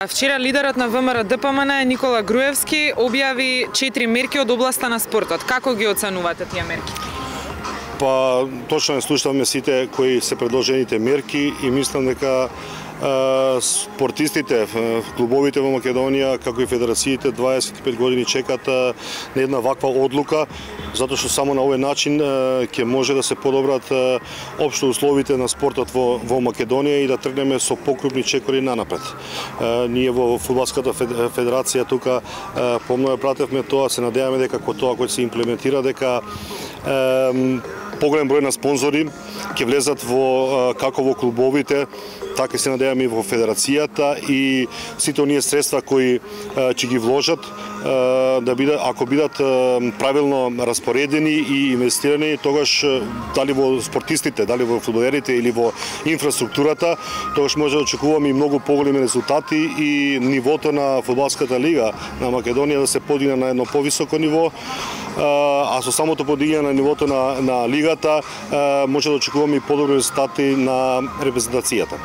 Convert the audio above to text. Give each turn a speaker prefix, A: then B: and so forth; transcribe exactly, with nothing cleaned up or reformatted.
A: Вчера лидерот на ВМРО Д П М Н Никола Груевски објави четири мерки од областа на спортот. Како ги оценувате тие мерки?
B: Па точно слушавме сите кои се предложените мерки и мислам дека спортистите, клубовите во Македонија, како и федерациите, дваесет и пет години чекат на една ваква одлука, затоа што само на овој начин ќе може да се подобрат општо условите на спортот во, во Македонија и да тргнеме со покрупни чекори нанапред. Ние во фудбалската федерација тука помнога пратевме тоа, се надеваме дека кога тоа кој се имплементира дека поголем број на спонзори ќе влезат во како во клубовите, така се надеваме и во федерацијата и сите оние средства кои ќе ги вложат да бидат, ако бидат правилно распоредени и инвестирани, тогаш дали во спортистите, дали во фудбалерите или во инфраструктурата, тогаш може да очекуваме и многу поголеми резултати и нивото на фудбалската лига на Македонија да се подигне на едно повисоко ниво, а со самото подигање на нивото на, на лигата може да очекуваме и подобри резултати на репрезентацијата.